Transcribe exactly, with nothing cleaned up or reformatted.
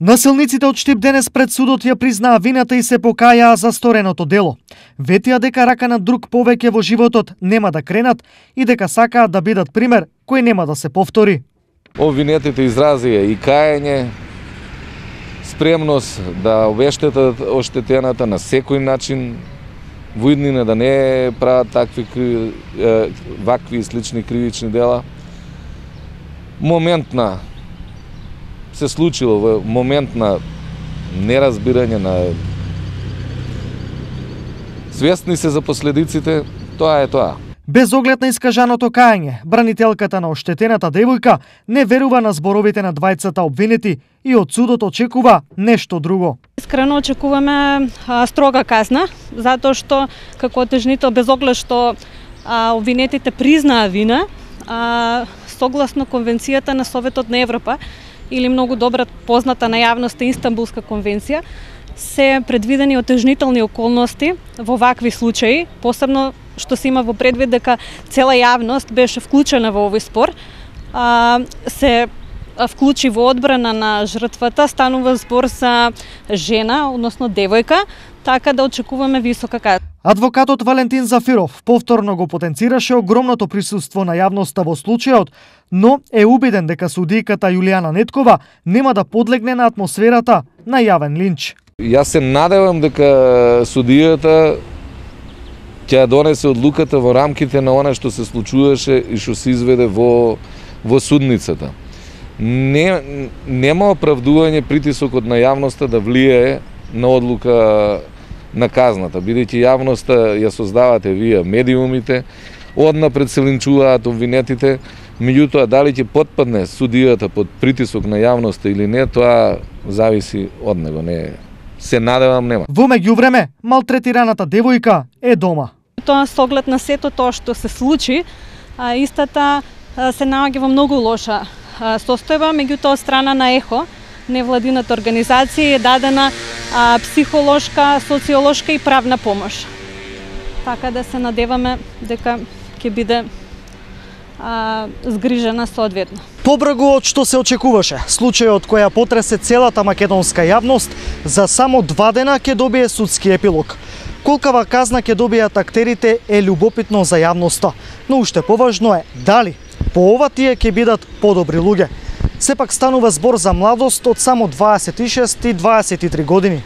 Насилниците од Штип денес пред судот ја признаа вината и се покајаа за стореното дело. Ветија дека рака на друг повеќе во животот нема да кренат и дека сакаат да бидат пример кој нема да се повтори. Обвинетите изразија и каење, спремност да обештетат оштетената на секој начин, во иднина да не прават такви вакви и слични кривични дела. Моментна се случило во момент на неразбирање, на свесни се за последиците, тоа е тоа. Без оглед на искажаното каење, бранителката на оштетената девојка не верува на зборовите на двајцата обвинети и од судот очекува нешто друго. Искрено очекуваме а, строга казна, затоа што како отежнител, без оглед што а, обвинетите признаа вина, а, согласно Конвенцијата на Советот на Европа, или многу добра позната на јавноста Инстанбулска конвенција, се предвидени отежнителни околности во вакви случаи, посебно што се има во предвид дека цела јавност беше вклучена во овој спор, а, се вклучи во одбрана на жртвата, станува збор за жена, односно девојка, така да очекуваме висока казна. Адвокатот Валентин Зафиров повторно го потенцираше огромното присуство на јавноста во случајот, но е убеден дека судијката Јулијана Неткова нема да подлегне на атмосферата на јавен линч. Јас се надевам дека судијата ќе донесе одлуката во рамките на она што се случуваше и што се изведе во во судницата. Не нема оправдување притисокот на јавноста да влијае на одлука на казната, бидејќи јавноста ја создавате вие медиумите, однапред се линчуваат обвинетите, меѓутоа дали ќе потпадне судијата под притисок на јавноста или не, тоа зависи од него, не се надевам нема. Во меѓувреме, малтретираната девојка е дома. Тоа со оглед на сето тоа што се случи, а, истата а, се наоѓа во многу лоша а, состојба, меѓутоа од страна на ЕХО, невладината организација, е дадена а, психолошка, социолошка и правна помош. Така да се надеваме дека ќе биде а, згрижена соодветно. Побргу од што се очекуваше, случајот која потресе целата македонска јавност, за само два дена ќе добие судски епилог. Колкава казна ќе добијат актерите е љубопитно за јавноста, но уште поважно е дали по ова тие ќе бидат подобри луѓе. Сепак станува збор за младост од само дваесет и шест и дваесет и три години.